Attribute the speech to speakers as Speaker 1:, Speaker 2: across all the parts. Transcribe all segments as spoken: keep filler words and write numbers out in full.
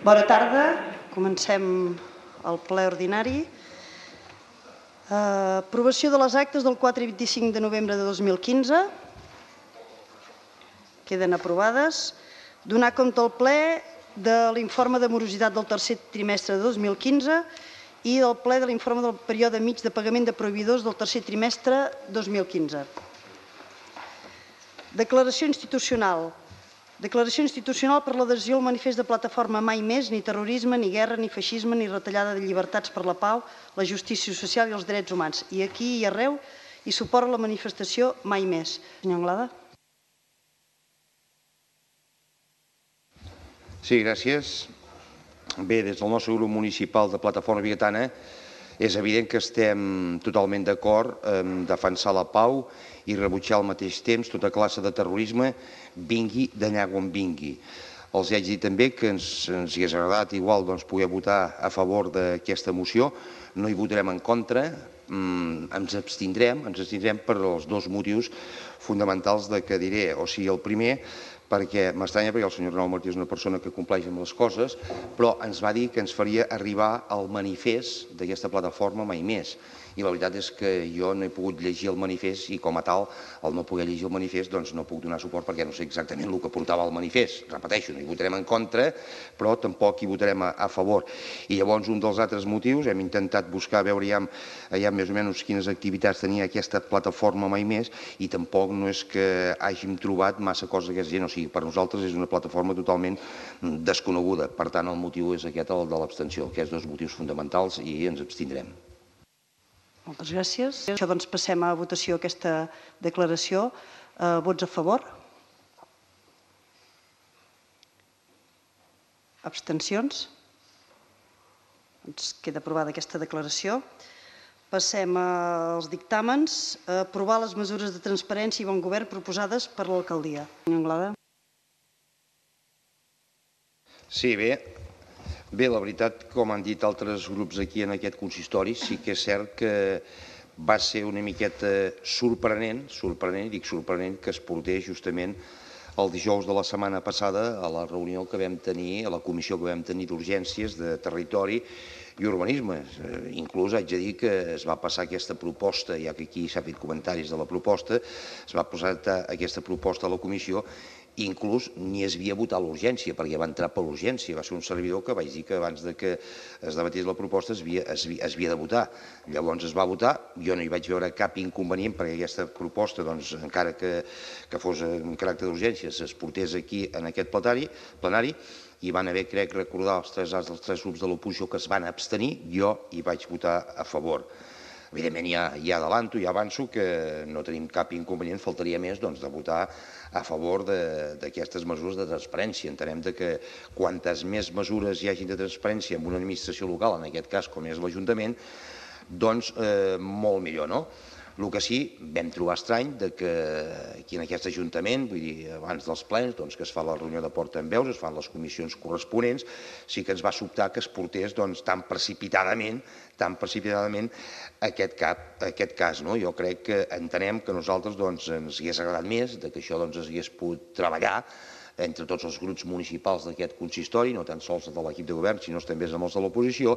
Speaker 1: Bona tarda. Comencem el ple ordinari. Aprovació de les actes del quatre i vint-i-cinc de novembre de dos mil quinze. Queden aprovades. Donar compte al ple de l'informe de morositat del tercer trimestre de dos mil quinze i del ple de l'informe del període mig de pagament de proveïdors del tercer trimestre dos mil quinze. Declaració institucional. Declaració institucional per l'adhesió al manifest de plataforma Mai Més, ni terrorisme, ni guerra, ni feixisme, ni retallada de llibertats per la pau, la justícia social i els drets humans. I aquí i arreu hi suport a la manifestació Mai Més. Senyor Anglada.
Speaker 2: Sí, gràcies. Bé, des del nostre grup municipal de Plataforma Bigatana és evident que estem totalment d'acord en defensar la pau i rebutjar al mateix temps tota classe de terrorisme, vingui d'allà on vingui. Els haig de dir també que ens hi hagués agradat igual poder votar a favor d'aquesta moció. No hi votarem en contra, ens abstindrem, ens abstindrem per els dos motius fonamentals que diré. O sigui, el primer, perquè m'estranya perquè el senyor Renau Martí és una persona que compleix amb les coses, però ens va dir que ens faria arribar el manifest d'aquesta plataforma Mai Més. I la veritat és que jo no he pogut llegir el manifest i com a tal, al no poder llegir el manifest, doncs no puc donar suport perquè no sé exactament el que portava el manifest. Repeteixo, no hi votarem en contra, però tampoc hi votarem a favor. I llavors un dels altres motius, hem intentat buscar, veure ja més o menys quines activitats tenia aquesta plataforma Mai Més i tampoc no és que hàgim trobat massa coses d'aquesta gent. O sigui, per nosaltres és una plataforma totalment desconeguda. Per tant, el motiu és aquest, el de l'abstenció. Aquests dos motius fonamentals i ens abstindrem.
Speaker 1: Moltes gràcies. Això doncs passem a votació aquesta declaració. Vots a favor? Abstencions? Doncs queda aprovada aquesta declaració. Passem als dictàmens. Aprovar les mesures de transparència i bon govern proposades per l'alcaldia. Senyor Anglada.
Speaker 2: Sí, bé. Bé, la veritat, com han dit altres grups aquí en aquest consistori, sí que és cert que va ser una miqueta sorprenent, sorprenent, dic sorprenent, que es portés justament el dijous de la setmana passada a la reunió que vam tenir, a la comissió que vam tenir d'urgències de territori i urbanisme. Inclús haig de dir que es va passar aquesta proposta, ja que aquí s'ha fet comentaris de la proposta, es va posar aquesta proposta a la comissió. Inclús ni es havia votat l'urgència, perquè va entrar per l'urgència. Va ser un servidor que vaig dir que abans que es debatés la proposta es havia de votar. Llavors es va votar, jo no hi vaig veure cap inconvenient perquè aquesta proposta, encara que fos en caràcter d'urgència, es portés aquí en aquest plenari i van haver, crec, recordar els tres als dels tres grups de l'oposició que es van abstenir, jo hi vaig votar a favor. Evidentment ja adelanto, ja avanço que no tenim cap inconvenient, faltaria més de votar a favor d'aquestes mesures de transparència. Entenem que quantes més mesures hi hagi de transparència en una administració local, en aquest cas com és l'Ajuntament, doncs molt millor, no? El que sí, vam trobar estrany que aquí en aquest Ajuntament, vull dir, abans dels plens, que es fa la reunió de portaveus, es fan les comissions corresponents, sí que ens va sobtar que es portés tan precipitadament, tan precipitadament aquest cas. Jo crec que entenem que a nosaltres ens hagués agradat més, que això es hagués pogut treballar entre tots els grups municipals d'aquest consistori, no tan sols de l'equip de govern, sinó també amb els de l'oposició,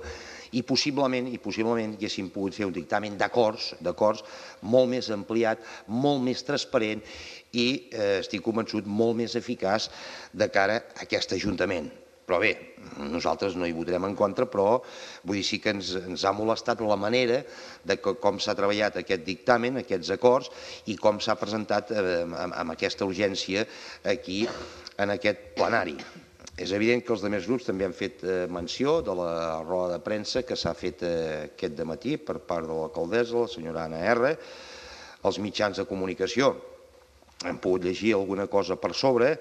Speaker 2: i possiblement haguéssim pogut fer un dictamen d'acords, d'acords molt més ampliat, molt més transparent i, estic convençut, molt més eficaç de cara a aquest Ajuntament. Però bé, nosaltres no hi votarem en contra, però vull dir sí que ens ha molestat la manera de com s'ha treballat aquest dictamen, aquests acords, i com s'ha presentat amb aquesta urgència aquí en aquest plenari. És evident que els altres grups també han fet menció de la roda de premsa que s'ha fet aquest dematí per part de l'alcaldessa, la senyora Anna R. Els mitjans de comunicació han pogut llegir alguna cosa per sobre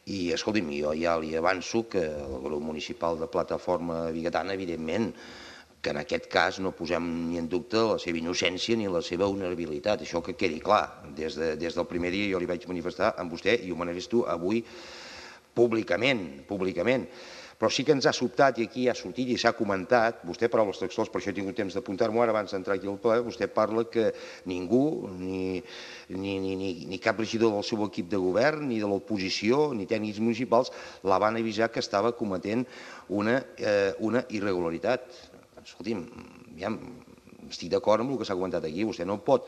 Speaker 2: i, escolti'm, jo ja li avanço que el grup municipal de Plataforma Bigatana, evidentment, que en aquest cas no posem ni en dubte la seva innocència ni la seva vulnerabilitat. Això que quedi clar. Des del primer dia jo li vaig manifestar amb vostè i ho manifesto avui públicament, públicament. Però sí que ens ha sobtat, i aquí ha sortit i s'ha comentat, vostè paraules textuals, per això he tingut temps d'apuntar-m'ho ara abans d'entrar aquí al ple, vostè parla que ningú, ni, ni, ni, ni, ni cap regidor del seu equip de govern, ni de l'oposició, ni tècnics municipals, la van avisar que estava cometent una, eh, una irregularitat. Escolti'm, ja estic d'acord amb el que s'ha comentat aquí, vostè no pot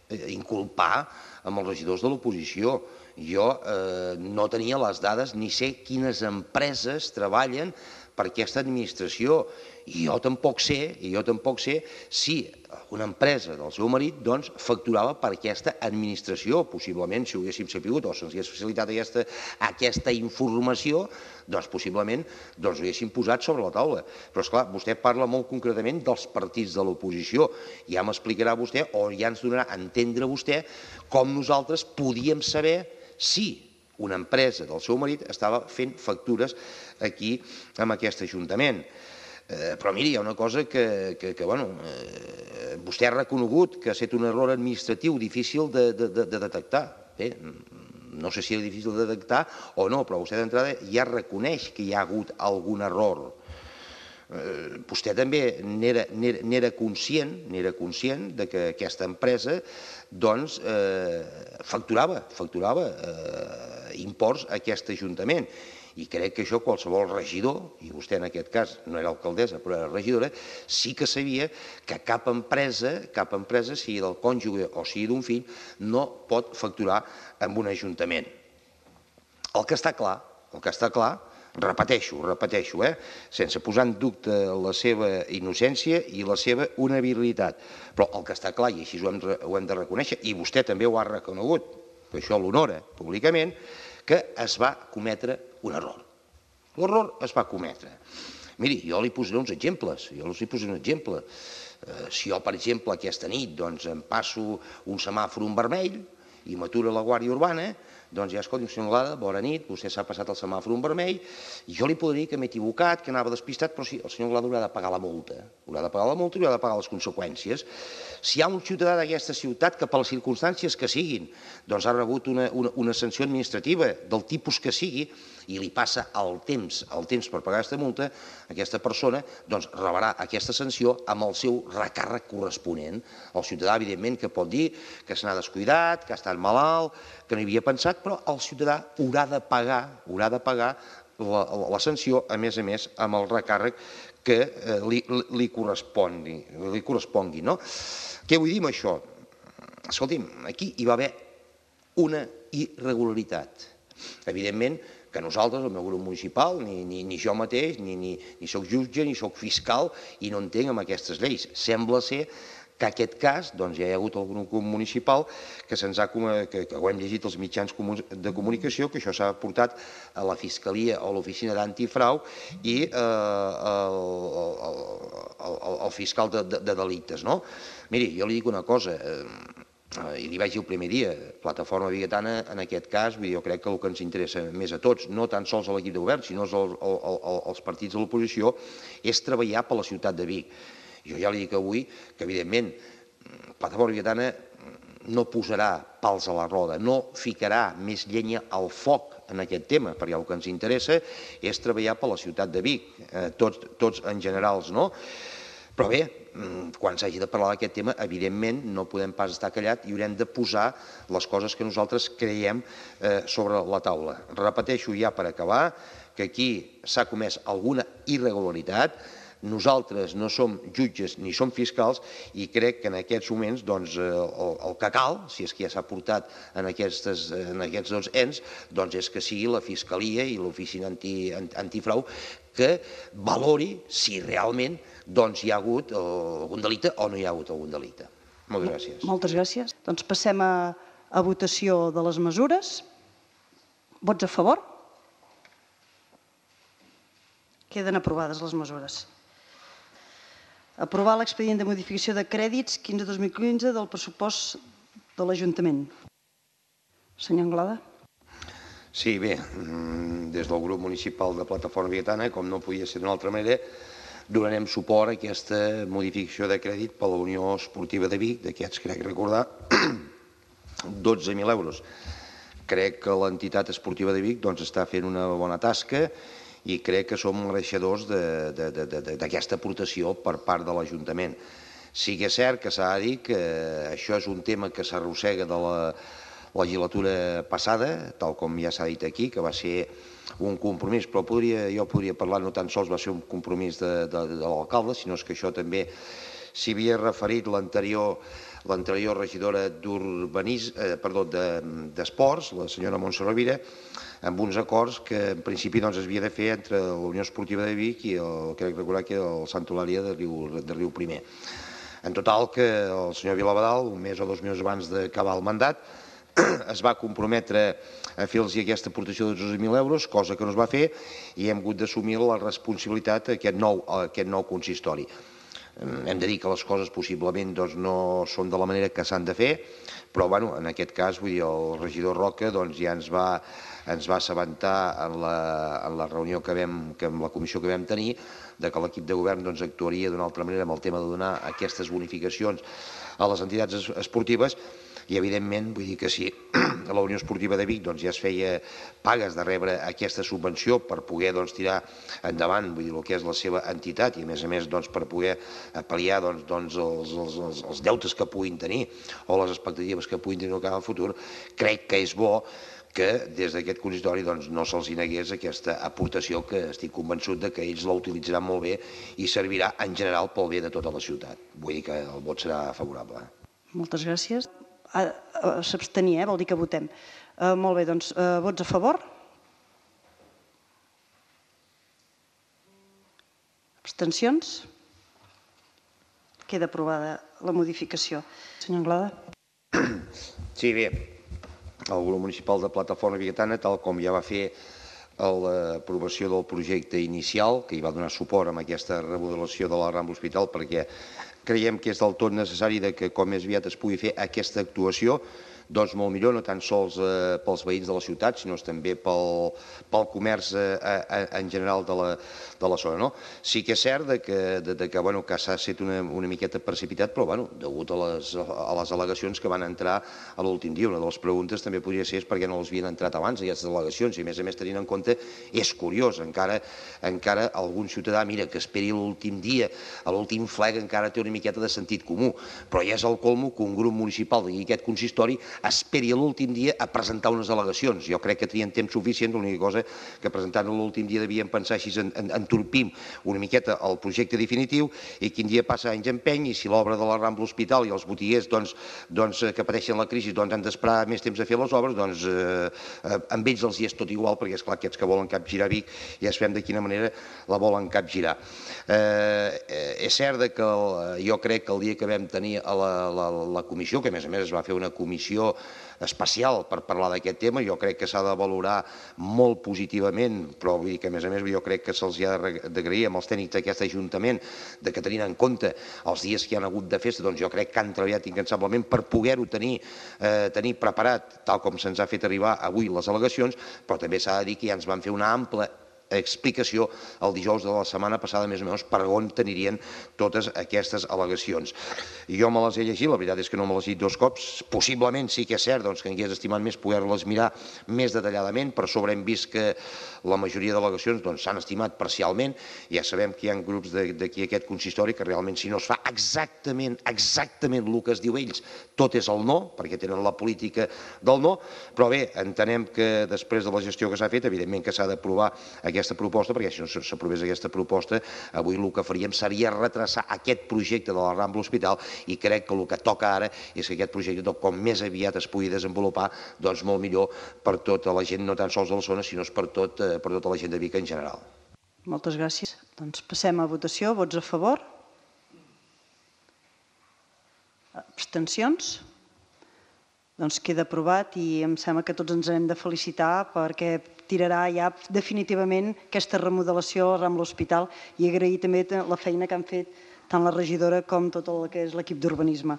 Speaker 2: inculpar amb els regidors de l'oposició. Jo eh, no tenia les dades ni sé quines empreses treballen per aquesta administració i jo tampoc sé, i jo tampoc sé si una empresa del seu marit doncs, facturava per aquesta administració. Possiblement, si ho haguéssim sapigut o se'ns hagués facilitat aquesta, aquesta informació, doncs possiblement doncs, ho haguéssim posat sobre la taula. Però, esclar, vostè parla molt concretament dels partits de l'oposició. Ja m'explicarà vostè, o ja ens donarà a entendre vostè, com nosaltres podíem saber si una empresa del seu marit estava fent factures aquí en aquest Ajuntament. Eh, però miri, hi ha una cosa que, que, que bueno, eh, vostè ha reconegut que ha estat un error administratiu difícil de, de, de, de detectar. Bé, no sé si era difícil de detectar o no, però vostè d'entrada ja reconeix que hi ha hagut algun error. Eh, vostè també n'era conscient, n'era conscient de que aquesta empresa doncs, eh, facturava, facturava eh, imports a aquest Ajuntament. I crec que això qualsevol regidor, i vostè en aquest cas no era alcaldessa però era regidora, sí que sabia que cap empresa, cap empresa, sigui del cònjuge o sigui d'un fill, no pot facturar en un ajuntament. El que està clar, el que està clar, repeteixo, repeteixo, eh, sense posar en dubte la seva innocència i la seva honorabilitat, però el que està clar, i així ho hem, ho hem de reconèixer, i vostè també ho ha reconegut, que això l'honora públicament, que es va cometre un error. L'error es va cometre. Miri, jo li posaré uns exemples. Jo li posaré un exemple. Si jo, per exemple, aquesta nit em passo un semàfor en vermell i m'atura la Guàrdia Urbana, doncs ja, escolti, senyor Anglada, bona nit, vostè s'ha passat el semàfor en vermell, i jo li podria dir que m'he equivocat, que anava despistat, però sí, el senyor Anglada haurà de pagar la multa. Haurà de pagar la multa i haurà de pagar les conseqüències. Si hi ha un ciutadà d'aquesta ciutat que per les circumstàncies que siguin doncs ha rebut una, una, una sanció administrativa del tipus que sigui i li passa el temps, el temps per pagar aquesta multa, aquesta persona doncs rebrà aquesta sanció amb el seu recàrrec corresponent. El ciutadà, evidentment, que pot dir que se n'ha descuidat, que ha estat malalt, que no hi havia pensat, però el ciutadà haurà de pagar, haurà de pagar la, la sanció, a més a més, amb el recàrrec que li, li correspongui. Li correspongui, no? Què vull dir amb això? Escolti'm, aquí hi va haver una irregularitat. Evidentment que nosaltres, el meu grup municipal, ni, ni, ni jo mateix, ni, ni, ni soc jutge, ni soc fiscal, i no entenc amb aquestes lleis. Sembla ser que en aquest cas doncs, ja hi ha hagut algun grup municipal que, se'ns ha, que, que ho hem llegit als mitjans de comunicació, que això s'ha portat a la Fiscalia o a l'Oficina d'Antifrau i eh, el, el, el, el fiscal de, de, de delictes. No? Miri, jo li dic una cosa, eh, i li vaig dir el primer dia, Plataforma Bigatana, en aquest cas, jo crec que el que ens interessa més a tots, no tan sols a l'equip de govern, sinó als partits de l'oposició, és treballar per la ciutat de Vic. Jo ja li dic avui que, evidentment, Plataforma Bigatana no posarà pals a la roda, no ficarà més llenya al foc en aquest tema, perquè el que ens interessa és treballar per la ciutat de Vic, tots, tots en generals, no? Però bé, quan s'hagi de parlar d'aquest tema, evidentment no podem pas estar callat i haurem de posar les coses que nosaltres creiem sobre la taula. Repeteixo ja per acabar que aquí s'ha comès alguna irregularitat. Nosaltres no som jutges ni som fiscals i crec que en aquests moments doncs, el, el que cal, si és que ja s'ha portat en, aquestes, en aquests dos ens, doncs és que sigui la Fiscalia i l'Oficina anti, Antifrau que valori si realment doncs, hi ha hagut algun delicte o no hi ha hagut algun delicte. Moltes gràcies.
Speaker 1: Moltes gràcies. Doncs passem a, a votació de les mesures. Vots a favor? Queden aprovades les mesures. Aprovar l'expedient de modificació de crèdits quinze dos mil quinze del pressupost de l'Ajuntament. Senyor Anglada.
Speaker 2: Sí, bé, des del grup municipal de Plataforma Bigatana, com no podia ser d'una altra manera, donarem suport a aquesta modificació de crèdit per la Unió Esportiva de Vic, d'aquests crec recordar, dotze mil euros. Crec que l'entitat esportiva de Vic doncs, està fent una bona tasca i crec que som mereixedors d'aquesta aportació per part de l'Ajuntament. Sí que és cert que s'ha de dir que això és un tema que s'arrossega de la legislatura passada, tal com ja s'ha dit aquí, que va ser un compromís, però podria, jo podria parlar, no tan sols va ser un compromís de, de, de l'alcalde, sinó que això també s'hi havia referit l'anterior l'anterior regidora d'Urbanisme, eh, perdó, d'Esports, la senyora Montse Rovira, amb uns acords que en principi doncs, es havia de fer entre la Unió Esportiva de Vic i el, crec recordar que el Sant Eulàlia de Riu, de Riu Primer. En total que el senyor Vilavadal, un mes o dos mesos abans d'acabar el mandat, es va comprometre a fer-los aquesta aportació de dotze mil euros, cosa que no es va fer, i hem hagut d'assumir la responsabilitat d'aquest nou, aquest nou consistori. Hem de dir que les coses possiblement doncs, no són de la manera que s'han de fer, però bueno, en aquest cas vull dir, el regidor Roca doncs, ja ens va, ens va assabentar en la, en la reunió que vam, que amb la comissió que vam tenir, de que l'equip de govern doncs, actuaria d'una altra manera amb el tema de donar aquestes bonificacions a les entitats esportives. I evidentment, vull dir que si a la Unió Esportiva de Vic doncs, ja es feia pagues de rebre aquesta subvenció per poder doncs, tirar endavant vull dir, el que és la seva entitat i a més a més doncs, per poder pal·liar doncs, doncs, els, els, els deutes que puguin tenir o les expectatives que puguin tenir en el futur, crec que és bo que des d'aquest consistori doncs, no se'ls negués aquesta aportació que estic convençut de que ells la utilitzaran molt bé i servirà en general pel bé de tota la ciutat. Vull dir que el vot serà favorable.
Speaker 1: Moltes gràcies. S'abstenir, eh? Vol dir que votem. Uh, molt bé, doncs, uh, vots a favor? Abstencions? Queda aprovada la modificació. Senyor Anglada.
Speaker 2: Sí, bé, el grup municipal de Plataforma Biguetana, tal com ja va fer l'aprovació del projecte inicial, que hi va donar suport amb aquesta remodelació de la Rambla Hospital, perquè creiem que és del tot necessari que com més aviat es pugui fer aquesta actuació, doncs molt millor, no tan sols pels veïns de la ciutat, sinó també pel comerç en general de la zona. Sí que és cert que s'ha estat una miqueta precipitat, però degut a les al·legacions que van entrar a l'últim dia. Una de les preguntes també podria ser per què no les havien entrat abans, aquestes al·legacions, i a més a més tenint en compte, és curiós, encara algun ciutadà, mira, que esperi l'últim dia, a l'últim fleg encara té una miqueta de sentit comú, però ja és el colmo que un grup municipal i aquest consistori esperi a l'últim dia a presentar unes al·legacions. Jo crec que tenien temps suficient, l'única cosa que presentant l'últim dia devien pensar així, entorpim una miqueta el projecte definitiu i quin dia passa anys empeny i si l'obra de la Rambla Hospital i els botiguers que pateixen la crisi han d'esperar més temps a fer les obres, doncs amb ells els hi és tot igual, perquè és clar que aquests que volen capgirar Vic ja sabem de quina manera la volen capgirar. És cert que jo crec que el dia que vam tenir a la comissió, que a més a més es va fer una comissió especial per parlar d'aquest tema, jo crec que s'ha de valorar molt positivament, però vull dir que a més a més jo crec que se'ls ha d'agrair amb els tècnics d'aquest Ajuntament de que tenint en compte els dies que hi ha hagut de festa, doncs jo crec que han treballat incansablement per poder-ho tenir preparat, tal com se'ns ha fet arribar avui les al·legacions, però també s'ha de dir que ja ens van fer una ampla explicació el dijous de la setmana passada, més o menys, per on tenirien totes aquestes al·legacions. Jo me les he llegit, la veritat és que no me les he llegit dos cops, possiblement sí que és cert que m'hagués estimat més poder-les mirar més detalladament, per sobre hem vist que la majoria d'al·legacions s'han estimat parcialment, ja sabem que hi ha grups d'aquí aquest consistori que realment si no es fa exactament, exactament el que es diu ells, tot és el no, perquè tenen la política del no, però bé, entenem que després de la gestió que s'ha fet, evidentment que s'ha d'aprovar aquesta aquesta proposta, perquè si no s'aprovés aquesta proposta, avui el que faríem seria retrasar aquest projecte de la Rambla Hospital i crec que el que toca ara és que aquest projecte, com més aviat es pugui desenvolupar, doncs molt millor per tota la gent, no tan sols de la zona, sinó per tota la gent de Vic en general.
Speaker 1: Moltes gràcies. Doncs passem a votació. Vots a favor? Abstencions? Doncs queda aprovat i em sembla que tots ens hem de felicitar perquè tirarà ja definitivament aquesta remodelació a la Rambla Hospital i agrair també la feina que han fet tant la regidora com tot el que és l'equip d'urbanisme.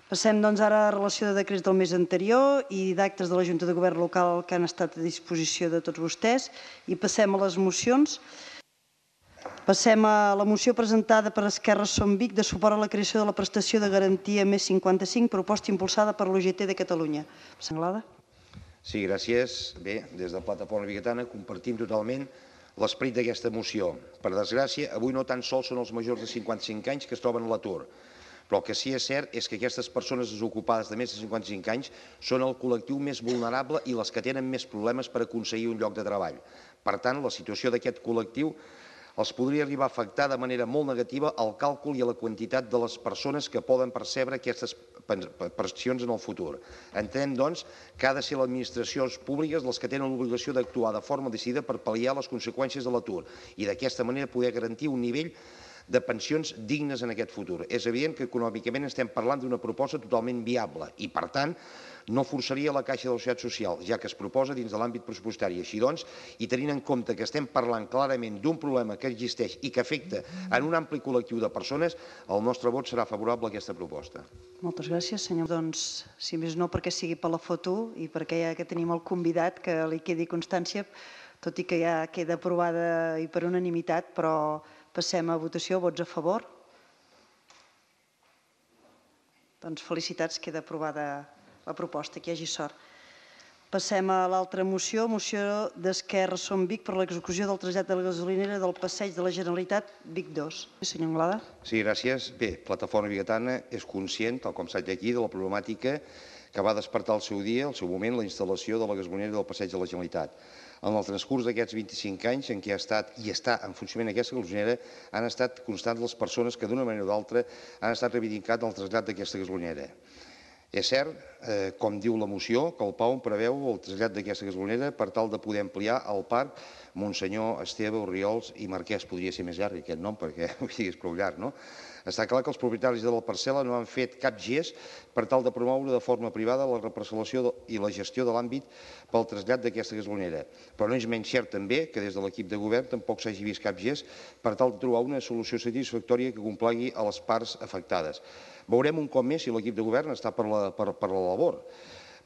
Speaker 1: Passem doncs ara a relació de decrets del mes anterior i d'actes de la Junta de Govern local que han estat a disposició de tots vostès i passem a les mocions. Passem a la moció presentada per Esquerra Som Vic de suport a la creació de la prestació de garantia més cinquanta-cinc, proposta impulsada per l'U G T de Catalunya. Anglada?
Speaker 2: Sí, gràcies. Bé, des de Plataforma Biguetana compartim totalment l'esperit d'aquesta moció. Per desgràcia, avui no tan sols són els majors de cinquanta-cinc anys que es troben a l'atur, però el que sí que és cert és que aquestes persones desocupades de més de cinquanta-cinc anys són el col·lectiu més vulnerable i les que tenen més problemes per aconseguir un lloc de treball. Per tant, la situació d'aquest col·lectiu els podria arribar a afectar de manera molt negativa al càlcul i a la quantitat de les persones que poden percebre aquestes pensions en el futur. Entenem, doncs, que ha de ser les administracions públiques les que tenen l'obligació d'actuar de forma decidida per pal·liar les conseqüències de l'atur i d'aquesta manera poder garantir un nivell de pensions dignes en aquest futur. És evident que econòmicament estem parlant d'una proposta totalment viable i, per tant, no forçaria la caixa de la Seguretat Social, ja que es proposa dins de l'àmbit pressupostari. Així doncs, i tenint en compte que estem parlant clarament d'un problema que existeix i que afecta en un ampli col·lectiu de persones, el nostre vot serà favorable a aquesta proposta.
Speaker 1: Moltes gràcies, senyor. Doncs, si més no, perquè sigui per la foto i perquè ja que tenim el convidat, que li quedi constància, tot i que ja queda aprovada i per unanimitat, però passem a votació. Vots a favor? Doncs felicitats, queda aprovada la proposta, que hi hagi sort. Passem a l'altra moció, moció d'Esquerra Som Vic per l'execució del trasllat de la gasolinera del Passeig de la Generalitat Vic dos. Senyor Anglada.
Speaker 2: Sí, gràcies. Bé, Plataforma Vigatana és conscient, tal com s'ha dit aquí, de la problemàtica que va despertar al seu dia, al seu moment, la instal·lació de la gasolinera del Passeig de la Generalitat. En el transcurs d'aquests vint-i-cinc anys en què ha estat i està en funcionament aquesta gasolinera, han estat constants les persones que d'una manera o d'altra han estat reivindicant el trasllat d'aquesta gasolinera. És cert, eh, com diu la moció, que el P A U preveu el trasllat d'aquesta gasolinera per tal de poder ampliar el parc Monsenyor, Esteve, Orriols i Marquès. Podria ser més llarg aquest nom perquè és prou llarg, no? Està clar que els propietaris de la parcel·la no han fet cap gest per tal de promoure de forma privada la reparcel·lació i la gestió de l'àmbit pel trasllat d'aquesta gasolinera. Però no és menys cert també que des de l'equip de govern tampoc s'hagi vist cap gest per tal de trobar una solució satisfactòria que complagui a les parts afectades. Veurem un cop més si l'equip de govern està per la, per, per la labor,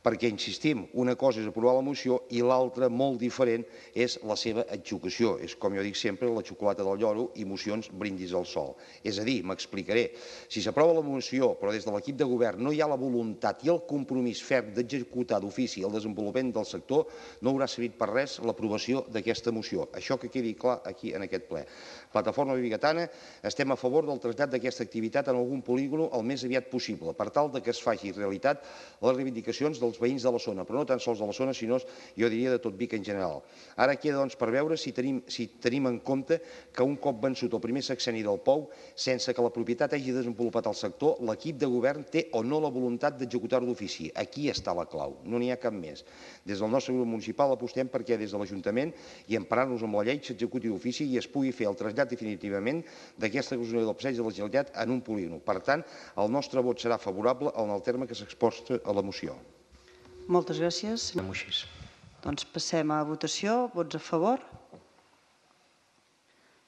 Speaker 2: perquè, insistim, una cosa és aprovar la moció i l'altra, molt diferent, és la seva execució. És, com jo dic sempre, la xocolata del lloro i mocions brindis al sol. És a dir, m'explicaré, si s'aprova la moció però des de l'equip de govern no hi ha la voluntat i el compromís ferm d'executar d'ofici el desenvolupament del sector, no haurà servit per res l'aprovació d'aquesta moció. Això que quedi clar aquí en aquest ple. Plataforma Vigatana, estem a favor del trasllat d'aquesta activitat en algun polígon el més aviat possible, per tal que es faci realitat les reivindicacions dels veïns de la zona, però no tan sols de la zona, sinó, jo diria, de tot Vic en general. Ara queda, doncs, per veure si tenim, si tenim en compte que un cop vençut el primer sexenni del P A U, sense que la propietat hagi desenvolupat el sector, l'equip de govern té o no la voluntat d'executar-ho d'ofici. Aquí està la clau, no n'hi ha cap més. Des del nostre grup municipal apostem perquè des de l'Ajuntament i emparant-nos amb la llei s'executi d'ofici i es pugui fer el trasllat definitivament d'aquesta gasolinera del Passeig de la Generalitat en un polígon. Per tant, el nostre vot serà favorable en el terme que s'exposa a la moció.
Speaker 1: Moltes gràcies. Doncs passem a votació. Vots a favor?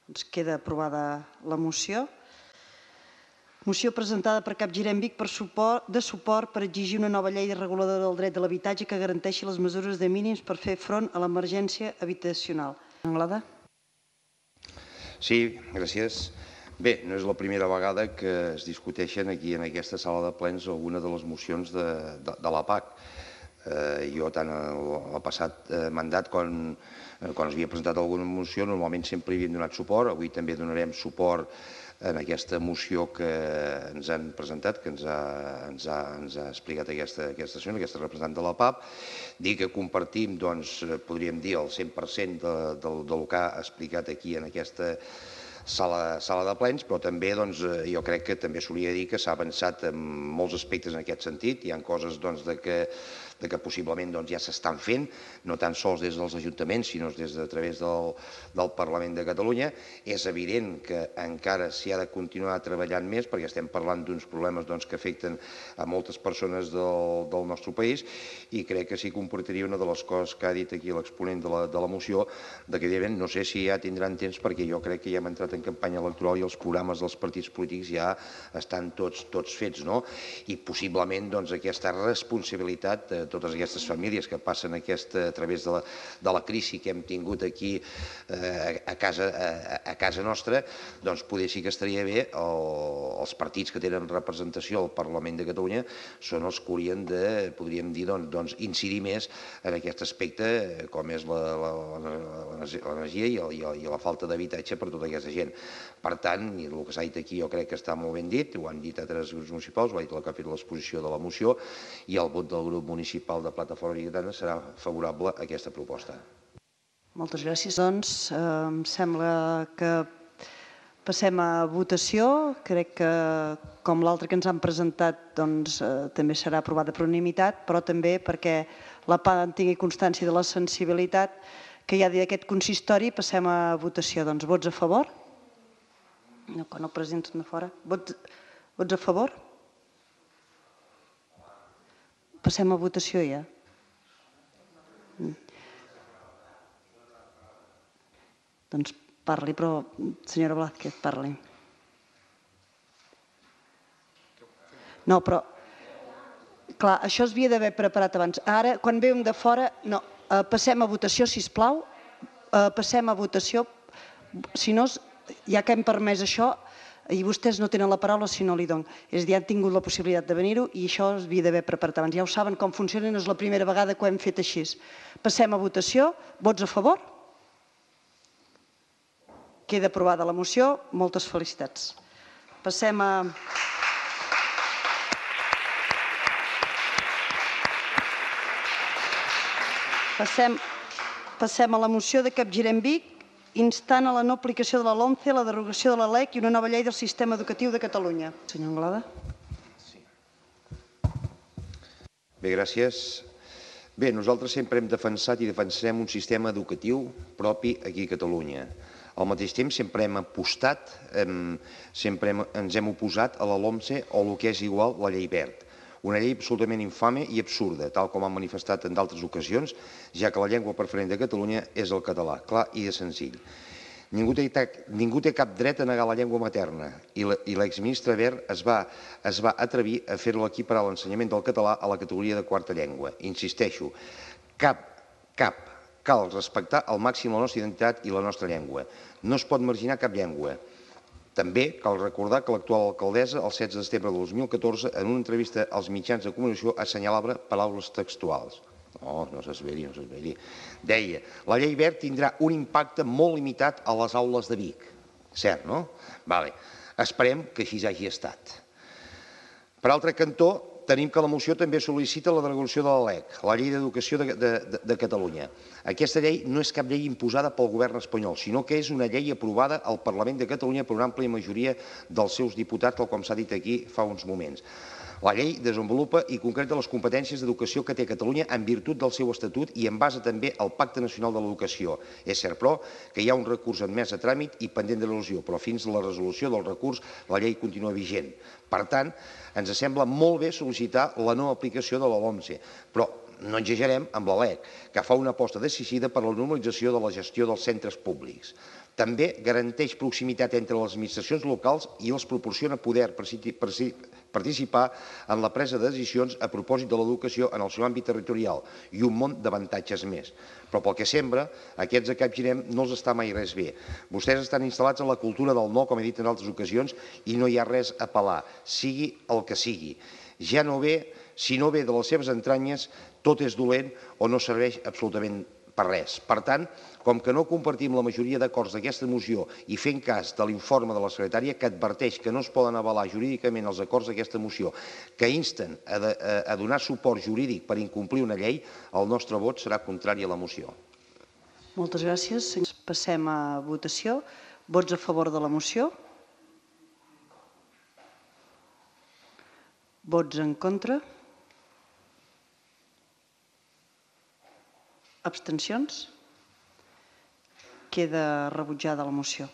Speaker 1: Doncs queda aprovada la moció. Moció presentada per Capgirem Vic per suport, de suport per exigir una nova llei reguladora del dret de l'habitatge que garanteixi les mesures de mínims per fer front a l'emergència habitacional. Anglada?
Speaker 2: Sí, gràcies. Bé, no és la primera vegada que es discuteixen aquí en aquesta sala de plens alguna de les mocions de, de, de la P A C. Eh, jo, tant el passat eh, mandat, quan, eh, quan es havia presentat alguna moció, normalment sempre hi havíem donat suport. Avui també donarem suport en aquesta moció que ens han presentat, que ens ha, ens ha, ens ha explicat aquesta, aquesta senyora, aquesta representant de la P A P. Dir que compartim, doncs, podríem dir, el cent per cent de, de, del que ha explicat aquí en aquesta sala, sala de plens, però també doncs, jo crec que també solia dir que s'ha avançat en molts aspectes en aquest sentit. Hi ha coses doncs, de que de que possiblement doncs, ja s'estan fent, no tan sols des dels ajuntaments, sinó des de a través del, del Parlament de Catalunya. És evident que encara s'hi ha de continuar treballant més, perquè estem parlant d'uns problemes doncs, que afecten a moltes persones del, del nostre país, i crec que sí que comportaria una de les coses que ha dit aquí l'exponent de, la, de la moció, de que no sé si ja tindran temps, perquè jo crec que ja hem entrat en campanya electoral i els programes dels partits polítics ja estan tots, tots fets, no? I possiblement doncs, aquesta responsabilitat de totes aquestes famílies que passen aquesta, a través de la, de la crisi que hem tingut aquí eh, a, casa, a, a casa nostra, doncs poder sí que estaria bé, el, els partits que tenen representació al Parlament de Catalunya són els que haurien de, podríem dir, doncs, doncs incidir més en aquest aspecte, com és l'energia i, i, i la falta d'habitatge per tota aquesta gent. Per tant, i el que s'ha dit aquí jo crec que està molt ben dit, ho han dit altres grups municipals, ho ha dit la que ha fet l'exposició de la moció, i el vot del grup municipal de Plataforma Bigatana serà favorable a aquesta proposta.
Speaker 1: Moltes gràcies. Doncs em sembla que passem a votació. Crec que, com l'altre que ens han presentat, doncs també serà aprovada per unanimitat, però també perquè la P A en tingui constància de la sensibilitat que hi ha d'aquest consistori, passem a votació. Doncs vots a favor? No, quan el president de fora. Vots, vots a favor? Passem a votació ja. Doncs parli, però senyora Blázquez, parli. No, però... Clar, això es havia d'haver preparat abans. Ara, quan vèiem de fora... No, passem a votació, sisplau. Passem a votació. Si no, ja que hem permès això, i vostès no tenen la paraula si no li dono. És a dir, han tingut la possibilitat de venir-ho i això es havia d'haver preparat abans. Ja ho saben com funciona, no és la primera vegada que ho hem fet així. Passem a votació. Vots a favor? Queda aprovada la moció. Moltes felicitats. Passem a... Passem, passem a la moció de Capgirem Vic, instant a la no aplicació de la LOMCE, la derogació de la L E C i una nova llei del sistema educatiu de Catalunya. Senyor Anglada.
Speaker 2: Bé, gràcies. Bé, nosaltres sempre hem defensat i defensarem un sistema educatiu propi aquí a Catalunya. Al mateix temps sempre hem apostat, sempre ens hem oposat a la LOMCE o el que és igual la llei Wert. Una llei absolutament infame i absurda, tal com han manifestat en d'altres ocasions, ja que la llengua preferent de Catalunya és el català, clar i de senzill. Ningú té, ningú té cap dret a negar la llengua materna i l'exministre Wert es va, es va atrevir a fer-lo equiparar l'ensenyament del català a la categoria de quarta llengua. Insisteixo, cap, cap, cal respectar al màxim la nostra identitat i la nostra llengua. No es pot marginar cap llengua. També cal recordar que l'actual alcaldessa, el setze de setembre de dos mil catorze, en una entrevista als mitjans de comunicació, assenyalava paraules textuals. No, no s'esveri, no s'esveri. Deia, la llei Wert tindrà un impacte molt limitat a les aules de Vic. Cert, no? Vale. Esperem que així hagi estat. Per altre cantó, tenim que la moció també sol·licita la derogació de la L E C, la Llei d'Educació de, de, de Catalunya. Aquesta llei no és cap llei imposada pel govern espanyol, sinó que és una llei aprovada al Parlament de Catalunya per una àmplia majoria dels seus diputats, tal com s'ha dit aquí fa uns moments. La llei desenvolupa i concreta les competències d'educació que té Catalunya en virtut del seu estatut i en base també al Pacte Nacional de l'Educació. És cert, però, que hi ha un recurs admès a tràmit i pendent de resolució, però fins a la resolució del recurs la llei continua vigent. Per tant, ens sembla molt bé sol·licitar la no aplicació de la LOMCE, però no exagerem amb la L E C, que fa una aposta decisiva per la normalització de la gestió dels centres públics. També garanteix proximitat entre les administracions locals i els proporciona poder participar en la presa de decisions a propòsit de l'educació en el seu àmbit territorial i un munt d'avantatges més. Però pel que sembla, aquests de Capgirem no els està mai res bé. Vostès estan instal·lats en la cultura del no, com he dit en altres ocasions, i no hi ha res a apel·lar, sigui el que sigui. Ja no ve, si no ve de les seves entranyes, tot és dolent o no serveix absolutament per res. Per tant, com que no compartim la majoria d'acords d'aquesta moció i fent cas de l'informe de la secretària que adverteix que no es poden avalar jurídicament els acords d'aquesta moció que insten a, de, a donar suport jurídic per incomplir una llei, el nostre vot serà contrari a la moció.
Speaker 1: Moltes gràcies. Passem a votació. Vots a favor de la moció? Vots en contra? Abstencions? Queda rebutjada la moció.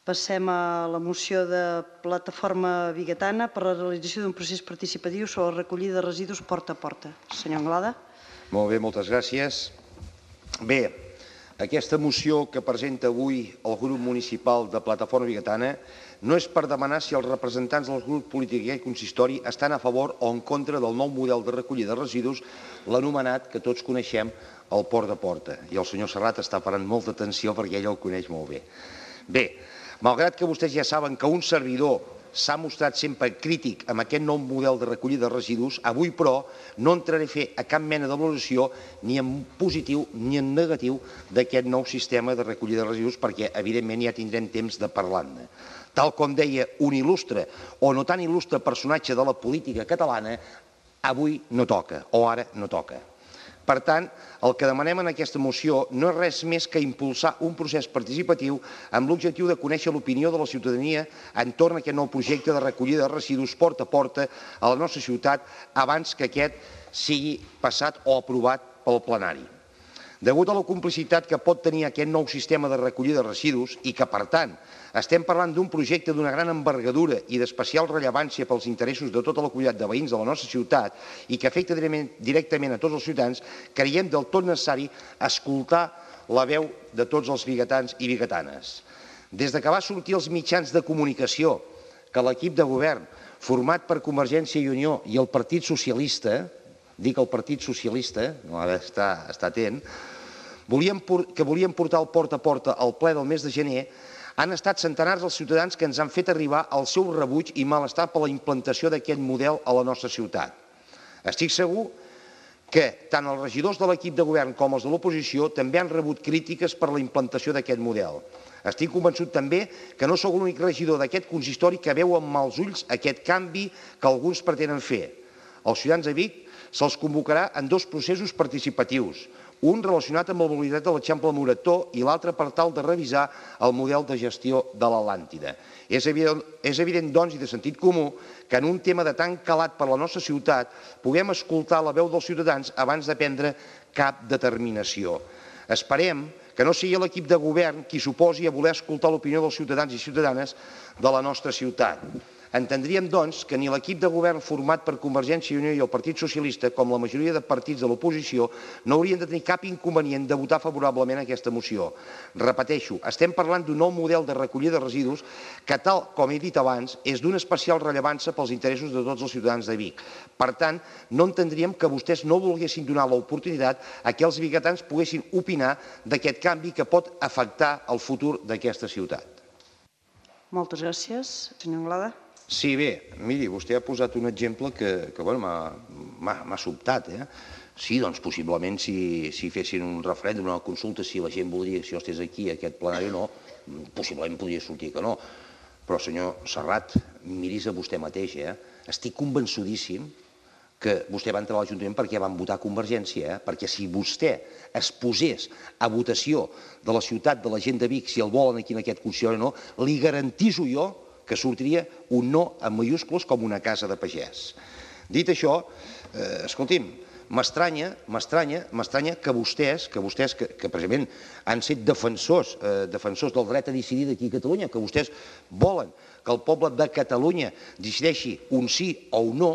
Speaker 1: Passem a la moció de Plataforma Bigatana per la realització d'un procés participatiu sobre la recollida de residus porta a porta. Senyor Anglada.
Speaker 2: Molt bé, moltes gràcies. Bé, Aquesta moció que presenta avui el grup municipal de Plataforma Bigatana no és per demanar si els representants dels grups polítics i consistori estan a favor o en contra del nou model de recollida de residus, l'anomenat, que tots coneixem, el Porta a Porta. I el senyor Serrat està parant molta atenció perquè ell el coneix molt bé. Bé, malgrat que vostès ja saben que un servidor s'ha mostrat sempre crític amb aquest nou model de recollida de residus, avui, però, no entraré a fer a cap mena de valoració ni en positiu ni en negatiu d'aquest nou sistema de recollida de residus perquè, evidentment, ja tindrem temps de parlar-ne. Tal com deia un il·lustre o no tan il·lustre personatge de la política catalana, avui no toca, o ara no toca. Per tant, el que demanem en aquesta moció no és res més que impulsar un procés participatiu amb l'objectiu de conèixer l'opinió de la ciutadania entorn a aquest nou projecte de recollida de residus porta a porta a la nostra ciutat abans que aquest sigui passat o aprovat pel plenari. Degut a la complicitat que pot tenir aquest nou sistema de recollida de residus i que, per tant, estem parlant d'un projecte d'una gran envergadura i d'especial rellevància pels interessos de tota la comunitat de veïns de la nostra ciutat i que afecta directament a tots els ciutadans, creiem del tot necessari escoltar la veu de tots els bigatans i bigatanes. Des que va sortir als mitjans de comunicació que l'equip de govern, format per Convergència i Unió i el Partit Socialista, dic el Partit Socialista, no ha d'estar atent, que volien portar el porta a porta al ple del mes de gener, han estat centenars els ciutadans que ens han fet arribar el seu rebuig i malestar per la implantació d'aquest model a la nostra ciutat. Estic segur que tant els regidors de l'equip de govern com els de l'oposició també han rebut crítiques per la implantació d'aquest model. Estic convençut també que no sou l'únic regidor d'aquest consistori que veu amb mals ulls aquest canvi que alguns pretenen fer. Els ciutadans de Vic se'ls convocarà en dos processos participatius, un relacionat amb la mobilitat de l'Eixample Morató i l'altre per tal de revisar el model de gestió de l'Atlàntida. És evident, doncs, i de sentit comú, que en un tema de tan calat per la nostra ciutat puguem escoltar la veu dels ciutadans abans de prendre cap determinació. Esperem que no sigui l'equip de govern qui s'oposi a voler escoltar l'opinió dels ciutadans i ciutadanes de la nostra ciutat. Entendríem, doncs, que ni l'equip de govern format per Convergència i Unió i el Partit Socialista, com la majoria de partits de l'oposició, no haurien de tenir cap inconvenient de votar favorablement a aquesta moció. Repeteixo, estem parlant d'un nou model de recollida de residus que, tal com he dit abans, és d'una especial rellevància pels interessos de tots els ciutadans de Vic. Per tant, no entendríem que vostès no volguessin donar l'oportunitat a que els bigatans poguessin opinar d'aquest canvi que pot afectar el futur d'aquesta ciutat.
Speaker 1: Moltes gràcies. Senyor Anglada.
Speaker 2: Sí, bé, miri, vostè ha posat un exemple que m'ha sobtat. Sí, doncs possiblement si fessin un referèndum, una consulta, si la gent voldria que si jo estés aquí, aquest plenari o no, possiblement podria sortir que no. Però, senyor Serrat, miris a vostè mateix. Estic convençudíssim que vostè va entrar a l'Ajuntament perquè van votar Convergència, perquè si vostè es posés a votació de la ciutat, de la gent de Vic, si el volen aquí en aquest consistori o no, li garantiso jo que sortiria un no en majúscules com una casa de pagès. Dit això, escolti'm, m'estranya, m'estranya, m'estranya que vostès, que vostès, que precisament han set defensors, defensors del dret a decidir d'aquí a Catalunya, que vostès volen que el poble de Catalunya decideixi un sí o un no,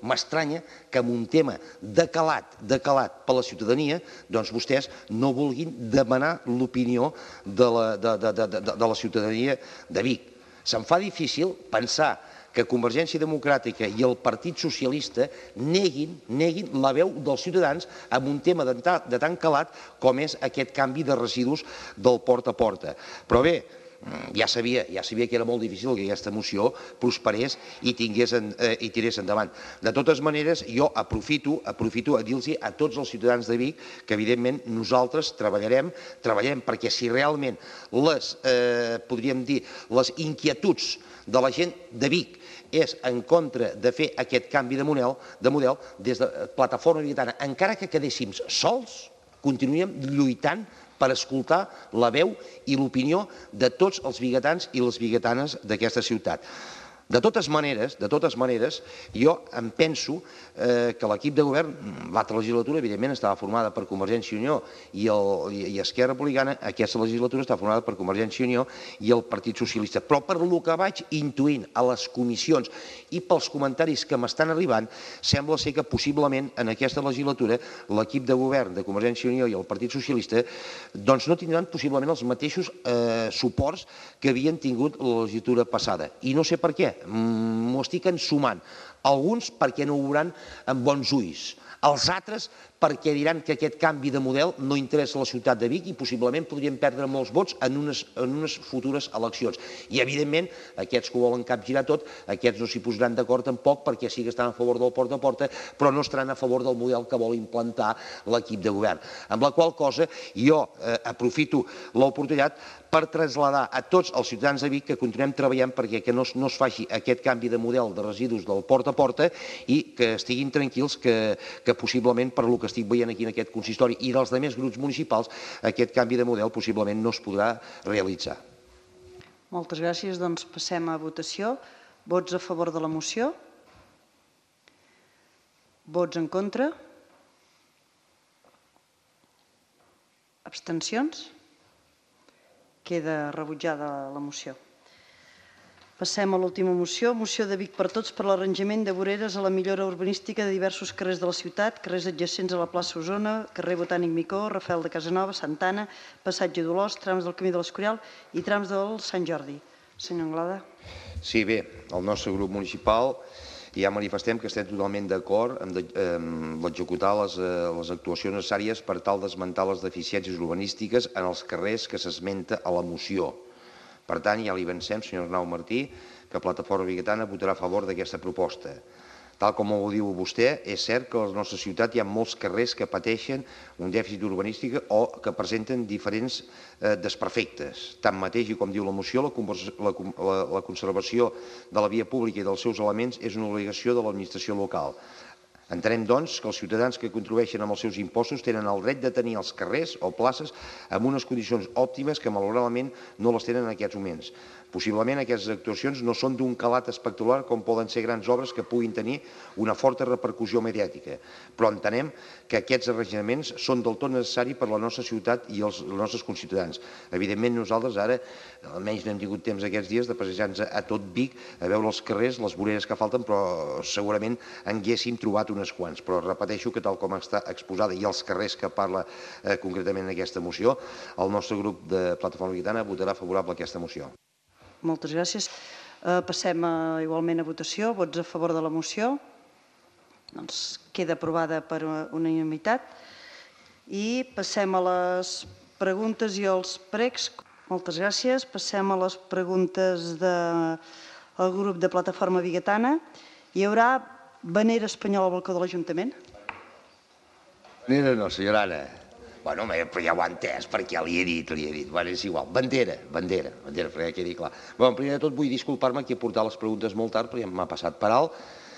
Speaker 2: m'estranya que en un tema decalat, decalat per la ciutadania, doncs vostès no vulguin demanar l'opinió de la ciutadania de Vic. Se'm fa difícil pensar que Convergència Democràtica i el Partit Socialista neguin la veu dels ciutadans en un tema de tan calat com és aquest canvi de residus del porta a porta. Però bé, ja sabia que era molt difícil que aquesta moció prosperés i tirés endavant. De totes maneres, jo aprofito a dir-los a tots els ciutadans de Vic que, evidentment, nosaltres treballarem, treballarem perquè si realment les, podríem dir, les inquietuds de la gent de Vic és en contra de fer aquest canvi de model, des de Plataforma Bigatana, encara que quedéssim sols, continuaríem lluitant per escoltar la veu i l'opinió de tots els bigatans i les bigatanes d'aquesta ciutat. De totes maneres, de totes maneres, jo em penso eh, que l'equip de govern, l'altra legislatura, evidentment, estava formada per Convergència i Unió i, el, i Esquerra Republicana, aquesta legislatura està formada per Convergència i Unió i el Partit Socialista. Però per lo que vaig intuint a les comissions i pels comentaris que m'estan arribant, sembla ser que possiblement en aquesta legislatura l'equip de govern de Convergència i Unió i el Partit Socialista doncs no tindran possiblement els mateixos eh, suports que havien tingut la legislatura passada. I no sé per què. M'ho estic ensumant. Alguns perquè no ho veuran amb bons ulls. Els altres perquè diran que aquest canvi de model no interessa a la ciutat de Vic i possiblement podrien perdre molts vots en unes, en unes futures eleccions. I, evidentment, aquests que ho volen capgirar tot, aquests no s'hi posaran d'acord tampoc perquè sí que estan a favor del porta a porta, però no estaran a favor del model que vol implantar l'equip de govern. Amb la qual cosa jo eh, aprofito l'oportunitat per traslladar a tots els ciutadans de Vic que continuem treballant perquè que no, no es faci aquest canvi de model de residus del porta a porta i que estiguin tranquils que, que possiblement per lo que estic veient aquí en aquest consistori i dels altres grups municipals aquest canvi de model possiblement no es podrà realitzar.
Speaker 1: Moltes gràcies. Doncs passem a votació. Vots a favor de la moció? Vots en contra? Abstencions? Queda rebutjada la moció. Passem a l'última moció, moció de Vic per Tots per l'arranjament de voreres a la millora urbanística de diversos carrers de la ciutat, carrers adjacents a la plaça Osona, carrer Botànic Micó, Rafael de Casanova, Santana, passatge d'Olors, trams del Camí de l'Escorial i trams del Sant Jordi. Senyor Anglada.
Speaker 2: Sí, bé, el nostre grup municipal ja manifestem que estem totalment d'acord amb l'executar les, les actuacions necessàries per tal d'esmentar les deficiències urbanístiques en els carrers que s'esmenta a la moció. Per tant, ja li avancem, senyor Arnau Martí, que Plataforma Vigatana votarà a favor d'aquesta proposta. Tal com ho diu vostè, és cert que a la nostra ciutat hi ha molts carrers que pateixen un dèficit urbanístic o que presenten diferents eh, desperfectes. Tanmateix, i com diu la moció, la, la, la, la conservació de la via pública i dels seus elements és una obligació de l'administració local. Entenem, doncs, que els ciutadans que contribueixen amb els seus impostos tenen el dret de tenir els carrers o places amb unes condicions òptimes que, malauradament, no les tenen en aquests moments. Possiblement aquestes actuacions no són d'un calat espectacular com poden ser grans obres que puguin tenir una forta repercussió mediàtica, però entenem que aquests arranjaments són del tot necessaris per a la nostra ciutat i els nostres conciutadans. Evidentment, nosaltres ara, almenys no hem tingut temps aquests dies de passejar-nos a tot Vic, a veure els carrers, les voreres que falten, però segurament en haguéssim trobat unes quants. Però repeteixo que tal com està exposada i els carrers que parla eh, concretament aquesta moció, el nostre grup de Plataforma Vigatana votarà favorable a aquesta moció.
Speaker 1: Moltes gràcies. Eh, passem a, igualment a votació. Vots a favor de la moció? Doncs queda aprovada per unanimitat. I passem a les preguntes i als pregs. Moltes gràcies. Passem a les preguntes del grup de Plataforma Vigatana. Hi haurà bandera espanyola al balcó de l'Ajuntament?
Speaker 2: Bandera no, senyora Anna. Bueno, però ja ho ha entès, perquè li he dit, li he dit. Bueno, és igual. Bandera, bandera, bandera, perquè quedi clar. Bé, primer de tot vull disculpar-me que he portat les preguntes molt tard, perquè m'ha passat per alt.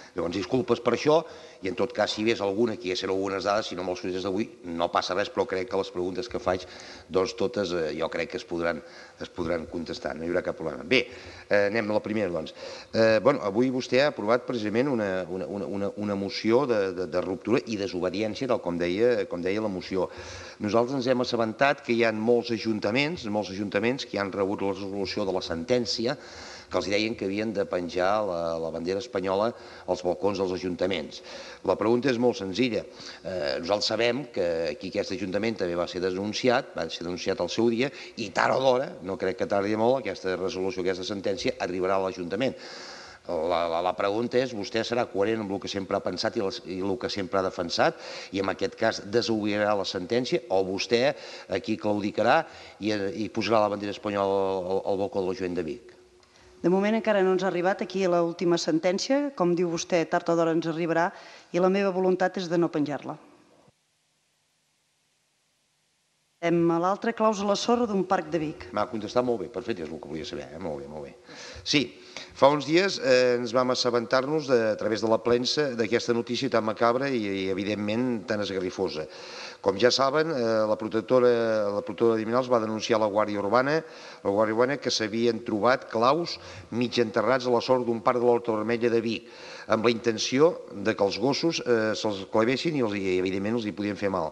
Speaker 2: Llavors, disculpes per això, i en tot cas, si hi hagués alguna, que hi haguessin algunes dades, si no amb els projectes d'avui, no passa res, però crec que les preguntes que faig, doncs totes eh, jo crec que es podran, es podran contestar, no hi haurà cap problema. Bé, eh, anem a la primera, doncs. Eh, bueno, avui vostè ha aprovat precisament una, una, una, una moció de, de, de ruptura i desobediència, tal com deia, com deia la moció. Nosaltres ens hem assabentat que hi ha molts ajuntaments, molts ajuntaments que han rebut la resolució de la sentència, que els deien que havien de penjar la, la bandera espanyola als balcons dels ajuntaments. La pregunta és molt senzilla. Eh, nosaltres sabem que aquí aquest ajuntament també va ser denunciat, va ser denunciat al seu dia, i tard o d'hora, no crec que tardi molt, aquesta resolució, aquesta sentència, arribarà a l'Ajuntament. La, la, la pregunta és, vostè serà coherent amb el que sempre ha pensat i, les, i el que sempre ha defensat i en aquest cas desobeirà la sentència o vostè aquí claudicarà i, i posarà la bandera espanyola al, al balcó de l'Ajuntament de Vic?
Speaker 1: De moment encara no ens ha arribat aquí l'última sentència. Com diu vostè, tard o d'hora ens arribarà i la meva voluntat és de no penjar-la. Hem a l'altre, clàusula sorra d'un parc de Vic.
Speaker 2: M'ha contestat molt bé, perfecte, és el que volia saber, eh? Molt bé, molt bé. Sí, fa uns dies eh, ens vam assabentar-nos a través de la premsa d'aquesta notícia tan macabra i, i evidentment tan esgarrifosa. Com ja saben, eh, la protectora, la protectora de criminals va denunciar a la Guàrdia Urbana, la Guàrdia Urbana que s'havien trobat claus mig enterrats a la sorra d'un parc de l'Horta Vermella de Vic, amb la intenció de que els gossos eh, se'ls clavessin i, els, i evidentment els hi podien fer mal.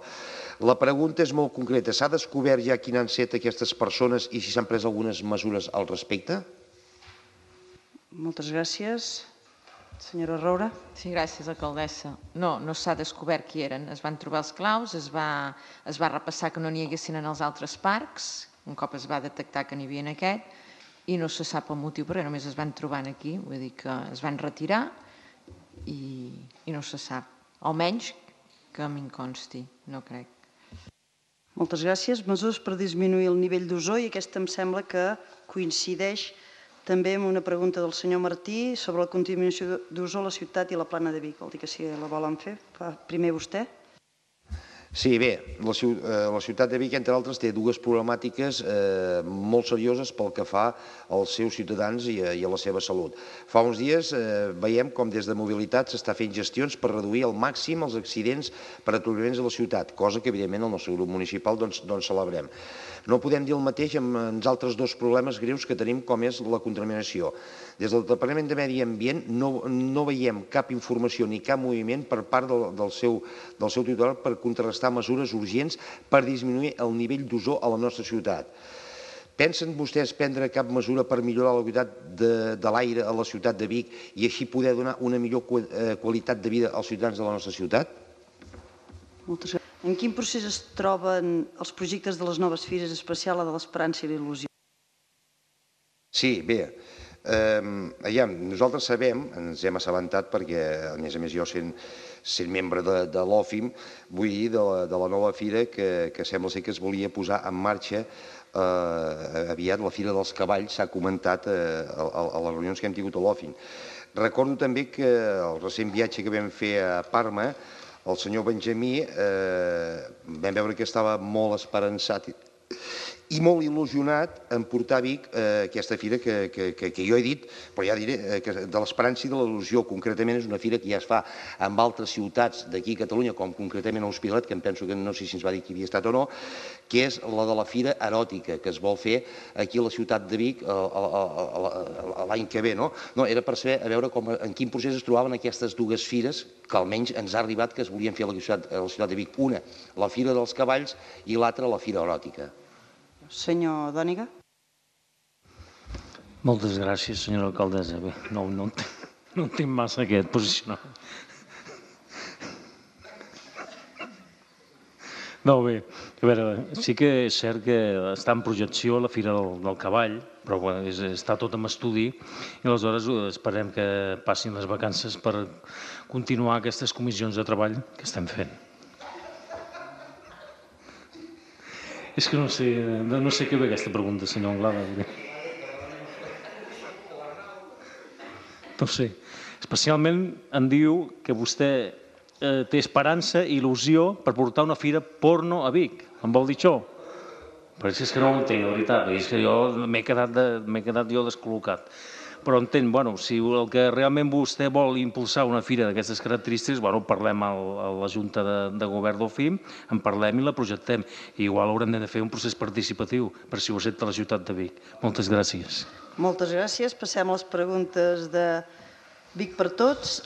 Speaker 2: La pregunta és molt concreta. S'ha descobert ja quin han set aquestes persones i si s'han pres algunes mesures al respecte?
Speaker 1: Moltes gràcies. Senyora Roura.
Speaker 3: Sí, gràcies, alcaldessa. No, no s'ha descobert qui eren. Es van trobar els claus, es va, es va repassar que no n'hi haguessin en els altres parcs, un cop es va detectar que n'hi havia en aquest, i no se sap el motiu, perquè només es van trobar aquí, vull dir que es van retirar i, i no se sap. Almenys que a mi em consti, no crec.
Speaker 1: Moltes gràcies. Mesures per disminuir el nivell d'ozó, i aquesta em sembla que coincideix també amb una pregunta del senyor Martí sobre la contaminació d'ozó a la ciutat i la plana de Vic. Vol dir que si la volen fer, primer vostè.
Speaker 2: Sí, bé, la ciutat de Vic, entre altres, té dues problemàtiques molt serioses pel que fa als seus ciutadans i a la seva salut. Fa uns dies veiem com des de mobilitat s'està fent gestions per reduir al màxim els accidents per atoraments a la ciutat, cosa que evidentment el nostre grup municipal doncs celebrem. No podem dir el mateix amb els altres dos problemes greus que tenim, com és la contaminació. Des del Departament de Medi Ambient no veiem cap informació ni cap moviment per part del seu titular per contrarrestar mesures urgents per disminuir el nivell d'ozó a la nostra ciutat. Pensen vostès prendre cap mesura per millorar la qualitat de l'aire a la ciutat de Vic i així poder donar una millor qualitat de vida als ciutadans de la nostra ciutat?
Speaker 1: Moltes gràcies. En quin procés es troben els projectes de les noves fires, especial la de l'Esperança i l'il·lusió?
Speaker 2: Sí, bé. Nosaltres sabem, ens hem assabentat perquè, a més a més, jo sent membre de l'OFIM, vull dir, de la nova fira que sembla ser que es volia posar en marxa aviat, la Fira dels Cavalls, s'ha comentat a les reunions que hem tingut a l'OFIM. Recordo també que el recent viatge que vam fer a Parma, el senyor Benjamí, vam veure que estava molt esperançat i molt il·lusionat en portar a Vic aquesta fira que jo he dit, però ja diré, de l'Esperança i de l'il·lusió. Concretament és una fira que ja es fa en altres ciutats d'aquí a Catalunya, com concretament a Hospitalet, que em penso que no sé si ens va dir que havia estat o no, que és la de la fira eròtica, que es vol fer aquí a la ciutat de Vic l'any que ve. Era per saber, a veure en quin procés es trobaven aquestes dues fires, que almenys ens ha arribat que es volien fer a la ciutat de Vic. Una, la Fira dels Cavalls, i l'altra, la Fira Eròtica.
Speaker 1: Senyor Dòniga.
Speaker 4: Moltes gràcies, senyora alcaldessa. Bé, no entenc massa aquest posicionament. No, bé, a veure, sí que és cert que està en projecció la Fira del Cavall, però està tot en estudi i aleshores esperem que passin les vacances per continuar aquestes comissions de treball que estem fent. És que no sé, no sé què ve aquesta pregunta, senyor Anglada. No sé. Especialment em diu que vostè té esperança i il·lusió per portar una fira porno a Vic. Em vol dir això? Però és que no ho entenc, la veritat. És que jo m'he quedat jo descol·locat. Però entenc, bueno, si el que realment vostè vol impulsar una fira d'aquestes característiques, bueno, parlem a la Junta de Govern d'OFIM, en parlem i la projectem. I igual haurem de fer un procés participatiu per si ho accepta la ciutat de Vic. Moltes gràcies.
Speaker 1: Moltes gràcies. Passem a les preguntes de Vic per Tots.